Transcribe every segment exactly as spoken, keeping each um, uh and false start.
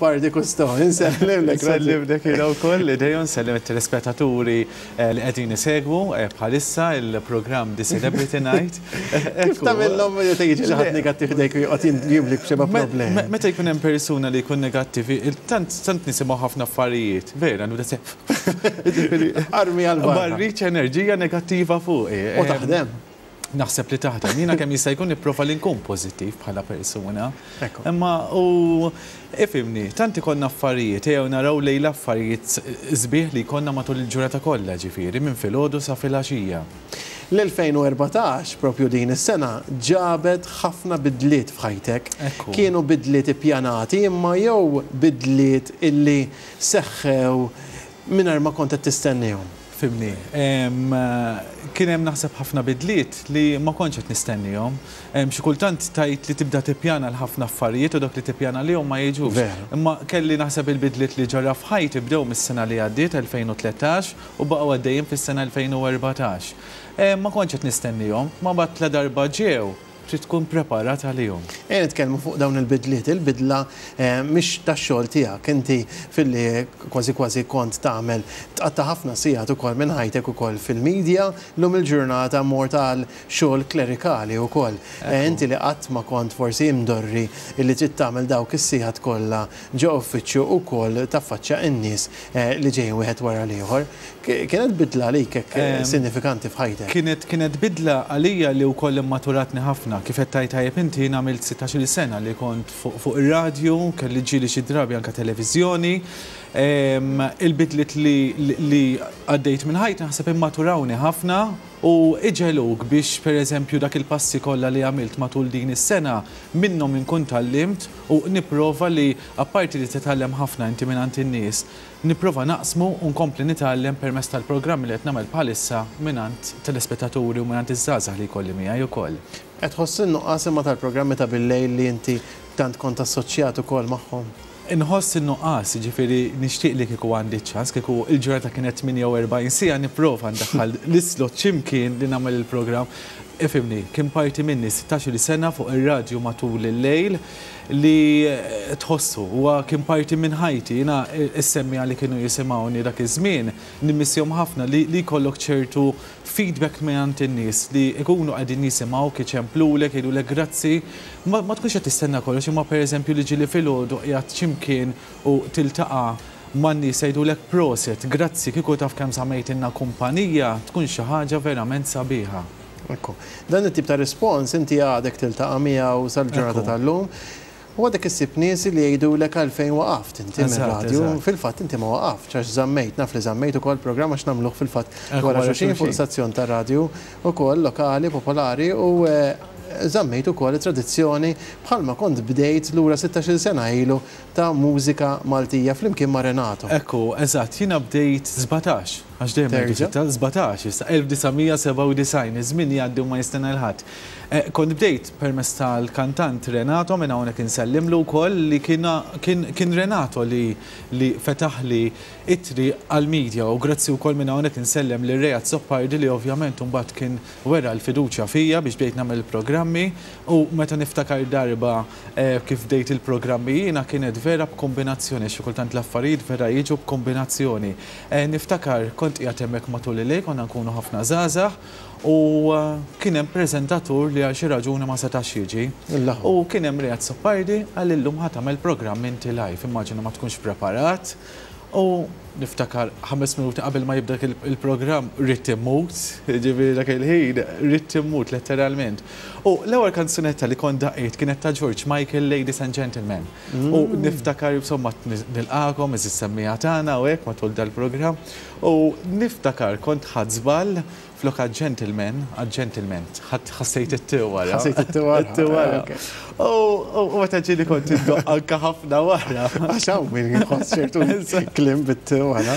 Azzopardi Cousteau. Insellimlek. Nsellimlek jiena wkoll, idejhom nsellem it-telespettaturi eh, li qegħdin isegwu eh, bħalissa il-programm The Celebrity Night. Kif tagħmilhom meta jiġi xi ħadd negattiv ħdejk u joqgħod jimlik b'xeba problemi? Meta jkun hemm persuna li jkun negattivi, tant tant nisimgħu ħafna affarijiet, vera, nibda se. Armi għal Ma rridx enerġija negattiva fuqi. U taħdem. Naħseb li taħdem. Jiena kemm jista' jkun nipprova li nkun pożittiv bħala persuna. Ekku. Imma u ifhimni, tant ikollna affarijiet, ejjew naraw lejn l-affarijiet sbieħ li jkollna matul il-ġurnata kollha, ġifieri minn filgħodu sa filgħaxija. L-elfejn u erbatax, propju din is-sena, ġabet ħafna bidliet f'ħajtek. Ekku. Kienu bidliet ippjanati imma jew bidliet illi seħħew mingħajr ma kont qed tistennihom? Fhimni, em, kien hemm naħseb ħafna bidliet li ma kontx qed nistennihom. Em, Xi kultant tajt li tibda tippjana l-ħafna affarijiet u dak li tippjana lihom ma jiġux. Vera. Imma kelli naħseb il-bidliet li ġara f'ħajti bdew mis-sena li għaddiet elfejn u tlettax u baqgħu għaddejjin fis-sena elfejn u erbatax. Em, Ma kontx qed nistennihom, ma bat la darba ġew, trid tkun preparat għalihom. Ejja nitkellmu fuq dawn il-bidliet. Il-bidla eh, mhix tax-xogħol tiegħek, inti filli kważi kważi kont tagħmel tqatta' ħafna sigħat ukoll minn ħajtek ukoll fil-medja, llum il-ġurnata mort għal xogħol klerikali ukoll. Eh, Inti li qatt ma kont forsi imdorri illi trid tagħmel dawk is-sigħat kollha ġo uffiċċju ukoll taffaċċja n-nies eh, li ġejjin wieħed wara l-ieħor. Kienet bidla għalik hekk eh, Em, sinifikanti f'ħajtek. Kienet kienet bidla għalija li wkoll immaturatni ħafna. Kif qed tajt tajjeb inti, jien għamilt sittax-il sena li kont fuq fuq ir-radju, kelli ġieli xi drabi anke televiżjoni. Em, Il-bidliet li, li, li għaddejt minn ħajti naħseb immaturawni ħafna u iġegħluk biex, pereżempju, dak il-passi kollha li għamilt matul din is-sena minnhom inkun tgħallimt u nipprova li, apparti li titgħallem ħafna inti minn in-nies, nipprova naqsmu u nkompli nitgħallem permezz tal-programmi li qed nagħmel bħalissa mingħand telespettaturi u mingħand iż-żgħażagħ li jkolli miegħi ukoll. Qed tħoss in-nuqqas imma tal-programmi ta' billejl li inti tant kont assoċjat ukoll magħhom? Inħoss in-nuqqas, ġifieri nixtieq li kieku għandi ċans, kieku il-ġurnata kienet tmienja u erbgħin siegħa, nipprova ndaħħal l-islot x'imkien li nagħmel il-programm. Ifhimni, kien parti minni sittax-il sena fuq ir-radju matul il-lejl li eh, tħossu, huwa kien parti minn ħajti, jiena is-semmiegħa li kienu jisimgħuni dak iż-żmien, nimmissjahom ħafna li li jkollok ċertu feedback minn in-nies li ikunu qegħdin jisimgħu, iċemplulek, jgħidulek grazzi. Ma, ma tkunx qed tistenna kollox, imma pereżempju li ġieli filgħodu qiegħed x'imkien u tiltaqa' man-nies jgħidulek prosit, grazzi, kieku taf kemm żammejtilna kumpanija, tkun xi ħaġa verament sabiħa. Ekku. Dan it-tip ta' rispons inti għadek tiltaqa' miegħu sal-ġurnata Ekku. tal-lum. U għadek issib nies li jgħidulek għalfejn waqaft inti Eżatt, mir-radju. eżatt. Fil-fatt inti ma waqaft, għax żammejt, naf li żammejt ukoll programm għax nagħmluh fil-fatt Ekku, wara wara xulxin fuq xulxin. stazzjon ta' radju ukoll lokali, popolari u eh, żammejt ukoll tradizzjoni bħalma kont bdejt lura sittax-il sena ilu ta' mużika Maltija flimkien ma' Renato. Ekku, eżatt, jiena bdejt sbatax, għax dejjem ngħidu Terġa'? sitta, sbatax, issa elf disa' mija sebgħa u disgħin, iż-żmien jgħaddi u ma jistenna 'l ħadd. Eh, Kont bdejt permezz tal-kantant Renato, minn hawnhekk insellimlu wkoll, li kien kien kien Renato li li fetaħli it-triq għal-media u grazzi wkoll minn hawnhekk insellem lil Ray Azzopardi li ovvjament mbagħad kien wera l-fiduċja fija biex bdejt nagħmel il-programmi. U meta niftakar darba eh, kif bdejt il-programmi jiena, kienet vera b'kombinazzjoni, xi kultant l-affarijiet vera jiġu b'kombinazzjoni. Eh, Niftakar kont qiegħed hemmhekk matul il-lejl, konna nkunu ħafna żgħażagħ u eh, kien hemm preżentatur li għal xi raġuni ma setax jiġi. Il-laħu. U kien hemm Ray Azzopardi, qal illum ħa tagħmel programm inti live, immaġina ma tkunx preparat. U niftakar ħames minuti qabel ma jibda il- il-programm ridt immut, ġifieri dak il-ħin ridt immut letteralment. U l-ewwel kanzunetta li kont daqqejt kienet ta' George Michael, Ladies and Gentlemen. U niftakar, insomma, nilqakom, iż semmiegħa tagħna u hekk matul dal-programm. U niftakar kont ħadt żball, flok għal gentleman, għal gentleman, ħassejt it-t wara. Ħassejt it-t wara. It-t wara. Ok. U u meta ġieli kont indoqq anka ħafna wara. Għax hawn min jħoss ċertu kliem bit-t wara.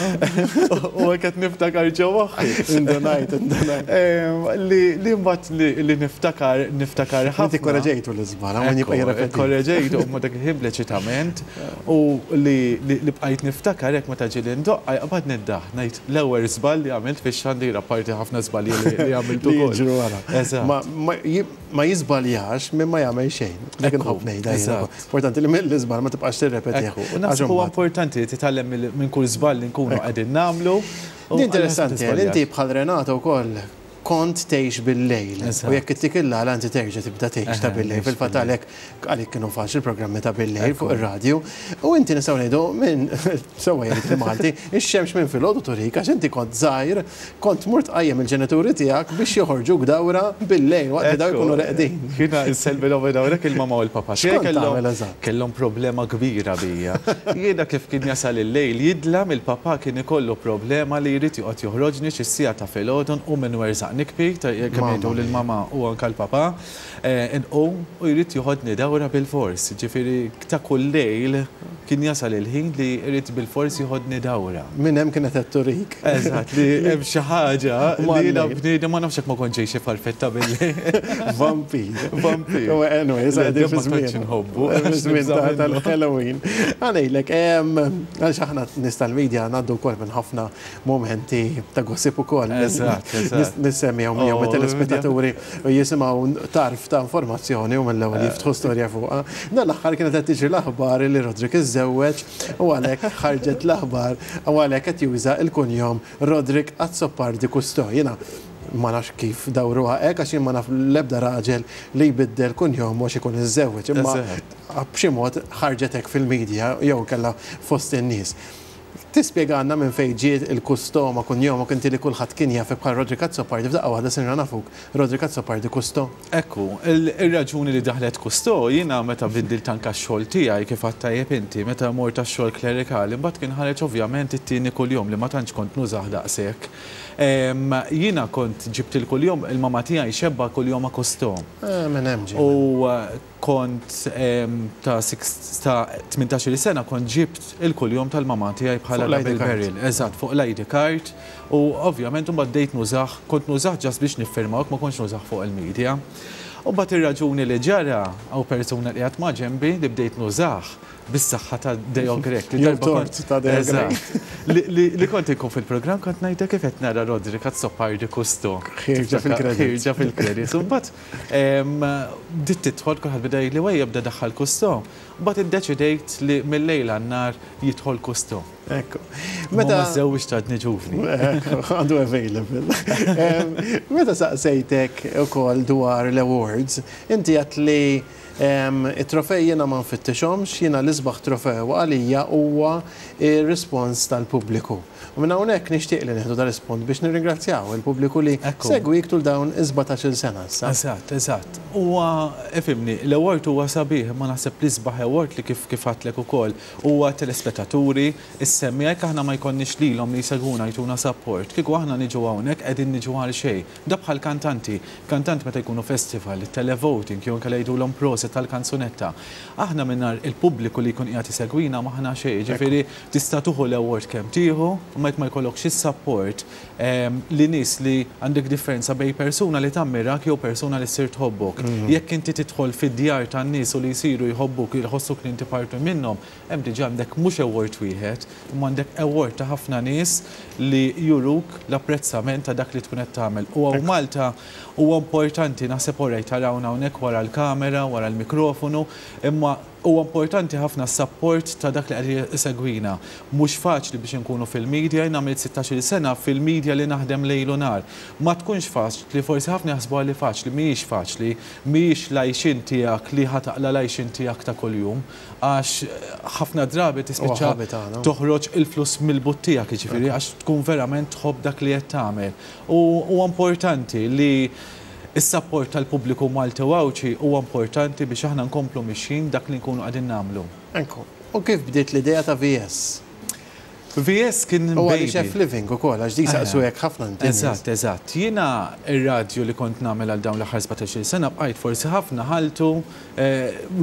U qed niftakar ġo moħħi. Indunajt, indunajt. Em, Li li mbagħad li li niftakar niftakar ħafna. Inti korreġejtu l-iżbal, hawn jibqa' jirrepeti. Korreġejtu, u ma dak il-ħin bleċitament u li li li bqajt niftakar hekk meta ġieli ndoqqa jaqbad niddaħ ngħid l-ewwel żball li għamilt fix-xandira, parti ħafna żbalji. l-iżbalji li għamiltu. Ma jiżbaljax minn ma jagħmel xejn. Dik inħobb ngħidha. Importanti li mill-iżball ma tibqax tirrepetih. U naħseb huwa importanti li titgħallem minn kull żball li nkunu qegħdin nagħmlu. Interessanti, inti bħal Renato wkoll kont tgħix bil-lejl. U jekk ittik il-għala inti terġa' tibda tgħix ta' bil-lejl. Fil-fatt għalhekk għalik kienu faċli programmi ta' bil-lejl fuq ir-radju. U inti nistgħu ngħidu minn sewwa jgħid il-Malti, ix-xemx minn filgħodu turik għax inti kont żgħir, kont mort tqajjem il-ġenituri tiegħek biex joħorġuk dawra bil-lejl waqt li daw jkunu reqdin. Jiena insellmilhom minn hawnhekk il-mama u l-papa. Kellhom problema kbira bija. Jiena kif kien jasal il-lejl jidlam, il-papa kien ikollu problema li jrid joqgħod joħroġni xi siegħa ta' filgħodu u minn werżaq nikbi, kemm jgħidu lill-mama u anke l-papa, inqum u jrid joħodni dawra bil-fors. Ġifieri ta' kull lejl kien jasal il-ħin li jrid bil-fors joħodni dawra. Minn hemm kienet qed turik. Eżatt, li hemm xi ħaġa li jiena bniedem ma nafx hekk ma kontx xi farfetta bil-lejl. Vampir. Vampir. Anyway, qegħdin fi żmien. Nħobbu. Żmien tal-Halloween. Ħa ngħidlek, għaliex aħna nies tal-media ngħaddu wkoll minn ħafna momenti ta' gossip ukoll. Eżatt, eżatt. Nissemmijaw miegħu meta telespettaturi jisimgħu tarf ta' informazzjoni u mill-ewwel jiftħu storja fuqha. Dan l-aħħar kienet qed tiġri l-aħbar li Roderick iżżewweġ u għalhekk ħarġet l-aħbar u għalhekk qed juża l-kunjom Roderick Azzopardi Cousteau. Jiena ma nafx kif dawruha hekk għax jien ma naf l-ebda raġel li jbiddel kunjom għax ikun iżżewweġ, imma b'xi mod ħarġet hekk fil-medja jew kellha fost in-nies. Tispjegana minn fejn ġiet il-Cousteau ma' kunjomok inti li kulħadd kien jafek bħal Roderick Azzopardi, f'daqqa waħda sirna nafuk Roderick Azzopardi Cousteau. Ekku, ir-raġuni li daħlet Cousteau jiena meta biddilt anke x-xogħol tiegħi kif għedt tajjeb inti, meta mort għax-xogħol klerikali, mbagħad kien ħareġ ovvjament it-tieni kuljum li ma tantx kont nużah daqshekk. Jiena kont ġibt il-kuljum, il-mama tiegħi xebba kuljum Cousteau. Minn hemm ġie. U kont ta' tmintax-il sena kont ġibt il-kuljum tal-mama tiegħi bħala double barrel. Eżatt, fuq l-I D card. U ovvjament mbagħad bdejt nużah, kont nużah just biex niffirmawk, ma kontx nużah fuq il-media. U mbagħad ir-raġuni li ġara hawn persuna li qiegħed ma' ġenbi li bdejt nużah bis-saħħa ta' Deo Grech. Li tort ta' Deo Grech. Li kont inkun fil-programm kont ngħidha kif qed nara Roderick Azzopardi Cousteau. Ħierġa fil-credit. Ħierġa fil-credit. U mbagħad bdiet tidħol kulħadd beda jgħidli wejja bda daħħal Cousteau. Mbagħad iddeċidejt li mill-lejl għan-nhar jidħol Cousteau. Ekku. Meta żewġ għadni ġuvni. Għandu available. Meta saqsejtek ukoll dwar l-awards, inti għedt li it-trofej jiena ma nfittixhomx, jiena l-isbaħ trofew għalija huwa ir-rispons tal-pubbliku. U minn hawnhekk nixtieq li nieħdu dar-rispons biex nirringrazzjaw il-pubbliku li segwik tul dawn is-sbatax-il sena issa. Eżatt, eżatt. Huwa ifhimni, l-award huwa sabiħ, ma naħseb l-isbaħ award li kif kif għedtlek ukoll huwa telespettaturi, is-semmiegħa. Jekk aħna ma jkollniex lilhom li jsegwuna jtuna support, kieku aħna niġu hawnhekk qegħdin niġu għal xejn. Da bħal kantanti, kantant meta jkunu festival, il-televoting, jew inkella jgħidulhom proset tal-kanzunetta. Aħna mingħajr il-pubbliku li jkun qiegħed isegwina m'aħna xejn, ġifieri tista' tieħu l-award kemm tieħu, u ma ma jkollokx is-support li nies li għandek differenza bejn persuna li tammirak jew persuna li ssir tħobbok. Jekk inti tidħol fid-djar tan-nies u li jsiru jħobbuk, jħossuk li inti parti minnhom, hemm diġà għandek mhux award wieħed, imma għandek award ta' ħafna nies li juruk l-apprezzament ta' dak li tkun qed tagħmel. U hawn Malta huwa importanti, naħseb orajt tarawna hawnhekk wara l-kamera, wara l-mikrofonu, imma huwa importanti ħafna s-support ta' dak li qed isegwina. Mhux faċli biex inkunu fil-media, jien għamilt sittax-il sena fil-media li naħdem lejl u nhar. Ma tkunx faċli, forsi ħafna jaħsbuha li faċli, mhijiex faċli, mhijiex l-għajxien tiegħek li ħa taqla' l-għajxien tiegħek ta' kuljum, għax ħafna drabi tispiċċa toħroġ il-flus mill-but tiegħek, jiġifieri għax tkun verament tħobb dak li qed tagħmel. U huwa importanti li is-support tal-pubbliku Malti u Għawdxi huwa importanti biex aħna nkomplu mixjin dak li nkunu qegħdin nagħmlu. Ekku. U kif bdiet l-idea ta' V S? V S kien U għaliex F Living ukoll, għax di saqsu hekk ħafna inti. Eżatt, eżatt. Jiena ir-radju li kont nagħmel għal dawn l-aħħar sbatax-il sena bqajt forsi ħafna ħaltu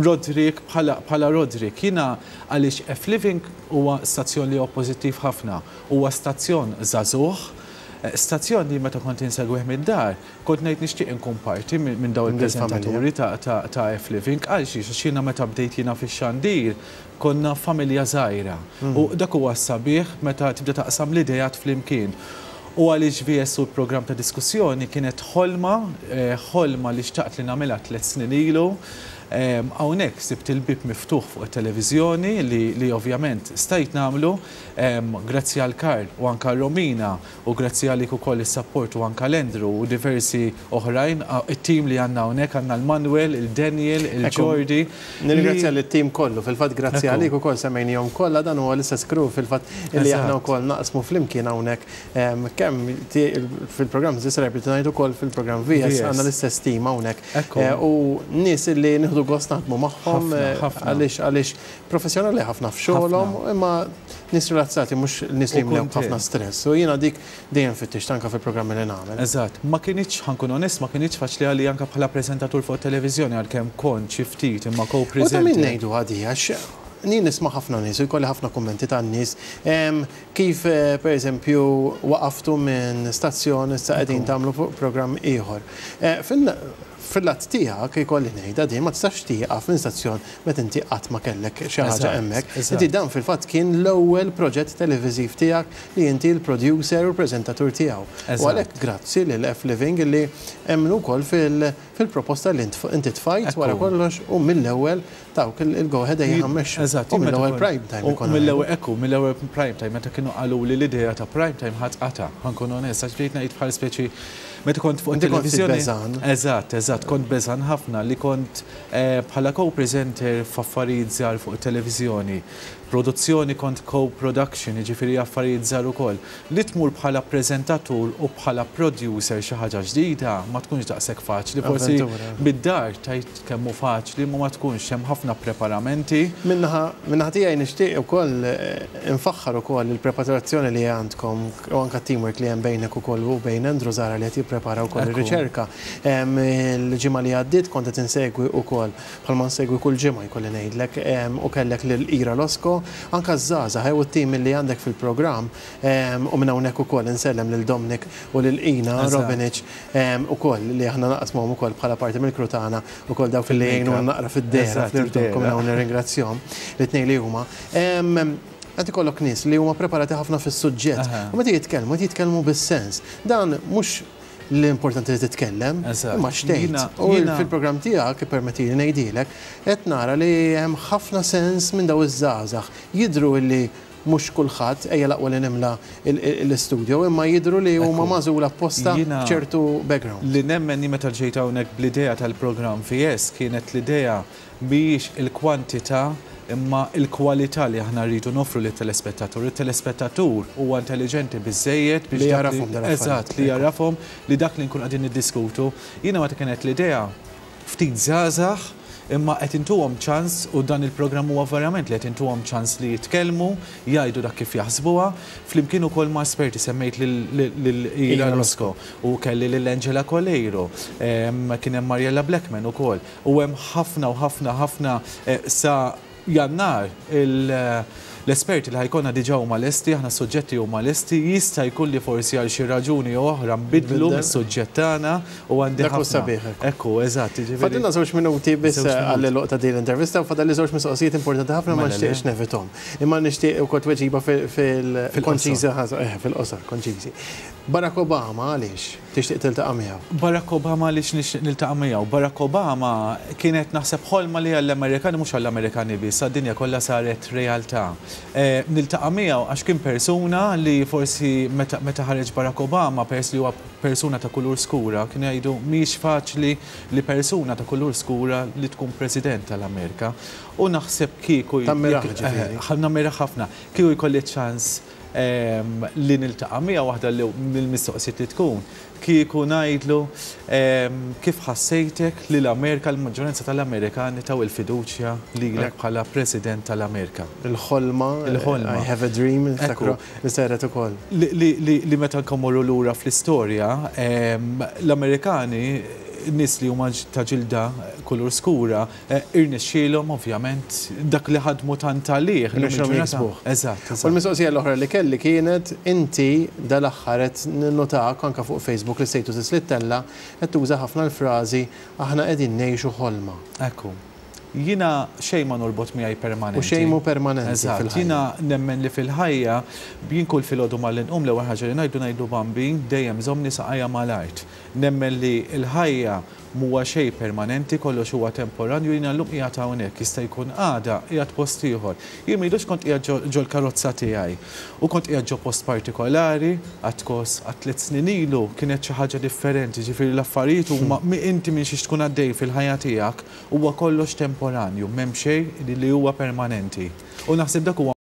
Roderick bħala Roderick. Jiena għaliex F Living huwa stazzjon li huwa pożittiv ħafna. Huwa stazzjon żagħżugħ, stazzjon li meta kont insegwih mid-dar, kont ngħid nixtieq inkun parti minn dawn il-preżentaturi ta' F Living, għal xiex għax jiena meta bdejt jiena fix-xandir konna familja żgħira. U dak huwa sabiħ meta tibda taqsam l-idejat flimkien. U għaliex V S u l-programm ta' diskussjoni kienet ħolma, ħolma li xtaqt li nagħmilha tliet snin ilu. Hawnhekk sibt il-bib miftuħ fuq it-televiżjoni li, li ovvjament stajt nagħmlu grazzi għal Karl u anka Romina u grazzi għalik ukoll is-support u anka l-Andrew u diversi oħrajn, it-tim li għandna hawnhekk, għandna l-Manuel, il-Daniel, il-Jordi. Nirringrazzja l-tim kollu, fil-fatt grazzi għalik ukoll semmejnihom kollha, dan huwa l-istess crew fil-fatt li aħna wkoll naqsmu flimkien hawnhekk, kemm fil-programm The Celebrity Night, ukoll fil-programm V S, għandna l-istess team hawnhekk. U nies li nieħdu gost naħdmu magħhom għaliex għaliex professjonali ħafna f'xogħolhom, imma nies rilassati, mhux nies li jimlew ħafna stress. U jiena dik dejjem fittixt anke fil-programmi li nagħmel. Eżatt, ma kinitx, ħa nkun onest, ma kinitx faċli għalli anke bħala preżentatur fuq televiżjoni, għalkemm kont xi ftit imma co-presenter. U ta' min ngħidu għadi, għax jien nisma' ħafna nies u jkolli ħafna kummenti tan nies kif, per eżempju, waqaftu minn stazzjon, issa qegħdin tagħmlu programm ieħor. Fil-lat tiegħek ikolli ngħidha din, ma tistax tieqaf minn stazzjon meta inti qatt ma kellek xi ħaġa hemmhekk. Inti dan fil-fatt kien l-ewwel proġett televiżiv tiegħek li inti l-producer u l-preżentatur tiegħu. U għalhekk grazzi lil F Living li emmnu wkoll fil-proposta li inti tfajt wara kollox u mill-ewwel tawk il-go ahead, ejja mmexxu. Eżatt, U mill-ewwel prime time. Mill-ewwel, ekku, mill-ewwel prime time, meta kienu qalu li l-idea ta' prime time ħadd qata', ħa nkun onest, għax bdejt ngħid bħal speċi meta kont fuq televizjoni. Eżatt, eżatt, kont beżan ħafna li kont bħala co-presenter f'affarijiet żgħar fuq televizjoni. Produzzjoni, kont co-production, jiġifieri affarijiet żgħar ukoll. Li tmur bħala preżentatur u bħala producer xi ħaġa ġdida ma tkunx daqshekk faċli. Forsi bid-dar tajt kemm hu faċli, ma ma tkunx, hemm ħafna preparamenti. Min-naħa tiegħi nixtieq ukoll infaħħar ukoll il-preparazzjoni li għandkom u anke teamwork li hemm bejnek ukoll u bejn Andrew Zara li qed jipprepara wkoll ir-riċerka. Il-ġimgħa li għaddiet kont qed insegwi ukoll, bħalma nsegwi kull ġimgħa jkolli ngħidlek, u kellek lil Ira Losco, anka żgħażagħ u t-tim li għandek fil-programm, u minn hawnhekk ukoll insellem lil Dominic u lil Ina Robinic ukoll li aħna naqsmuhom ukoll bħala parti mill-crew tagħna ukoll, dawk li jgħinu naqra fid-dehra fl-irtokk, minn hawn nirringrazzjahom l-tnejn li huma. Qed ikollok nies li huma preparati ħafna fis-suġġett. U meta jitkellmu, jitkellmu bis-sens. Dan mhux l-importanti li titkellem, imma x'tgħid. U fil-programm tiegħek, permetti li ngħidilek, qed nara li hemm ħafna sens minn daw iż-żgħażagħ. Jidhru li mhux kulħadd, ejja l-aqwa li nimla l-istudio, imma jidhru li huma magħżula apposta, ċertu background. Li nemmen meta ġejt hawnhekk bl-idea tal-programm V S kienet l-idea biex il-kwantità imma il-kwalità li aħna rridu noffru lit-telespettatur. Il-telespettatur huwa intelligenti biżejjed biex li jarafhom. Eżatt, li jarafhom li dak li nkun qegħdin niddiskutu. Jiena meta kienet l-idea ftit żgħażagħ, imma qed intuhom ċans, u dan il-programm huwa verament li qed intuhom ċans li jitkellmu, jgħidu dak kif jaħsbuha, flimkien ukoll ma' esperti. Semmejt lil Ira Losco u kelli lil Angela Coleiro, kien hemm Mariella Blackman ukoll, u hemm ħafna u ħafna ħafna eh, sa Jannar l-esperti li ħa jkollna diġà huma lesti, aħna suġġetti huma lesti, jista' jkun li forsi għal xi raġuni oħra nbidlu mis-suġġett tagħna u għandi ħafna. Sabiħ. Ekku, eżatt. Fadilna żewġ minuti biss għall-għeluq ta' din l-intervista u fadalli żewġ mistoqsijiet importanti ħafna, ma nixtieqx nevitahom. Imma nixtieq ukoll tweġiba fil-konċiża, eh, fil-qosor, konċiżi. Barack Obama, għaliex tixtieq tiltaqa' miegħu? Barack Obama, għaliex nixtieq niltaqa' miegħu? Barack Obama kienet naħseb ħolma li għall-Amerikani, mhux għall-Amerikani biss, għad-dinja kollha saret realtà. Eh, niltaqa' miegħu għax kien persuna li forsi meta ħareġ Barack Obama, pers li huwa persuna ta' kulur skura, kien jgħidu mhix faċli li persuna ta' kulur skura li tkun president tal-Amerika. U naħseb kieku Tammira. ħafna. Kieku jkolli ċans li niltaqa' miegħu, waħda li mill-mistoqsijiet li tkun kieku ngħidlu kif ħassejtek li l-Amerika, l-maġġoranza tal-Amerikani taw il-fiduċja lilek bħala President tal-Amerika. Il-ħolma, il-ħolma. I have a dream, li saret ukoll. Li meta nkommorru lura fl-istorja, l-Amerikani, nies li huma ta' ġilda kulur skura, eh, irnexxielhom ovvjament dak li ħadmu tant għalih. Irnexxielhom jiksbuh. Eżatt. U l-mistoqsija l-oħra li kelli kienet, inti dal-aħħar qed ninnotak anke fuq Facebook, li status li ttella', qed tuża ħafna l-frażi "aħna qegħdin ngħixu ħolma". Ekku. Jiena xejn ma norbot miegħi permanenti. U xejn mhu permanenti. Eżatt. Jiena nemmen li fil-ħajja jien kull filgħodu malli nqum, l-ewwel ħaġa li ngħidu ngħidu: "Bambin, dejjem żommni saqajja mal-art." Nemmen li l-ħajja mhuwa xejn permanenti, kollox huwa temporanju. Jiena llum qiegħed hawnhekk, jista' jkun għada qiegħed post ieħor. Jien m'ilux kont qiegħed ġol-karozza tiegħi u kont qiegħed ġo post partikolari, għatkos għat tliet snin ilu kienet xi ħaġa differenti, ġifieri l-affarijiet huma inti minn xiex tkun għaddej fil-ħajja tiegħek huwa kollox temporanju, m'hemm xejn li huwa permanenti. U naħseb dak huwa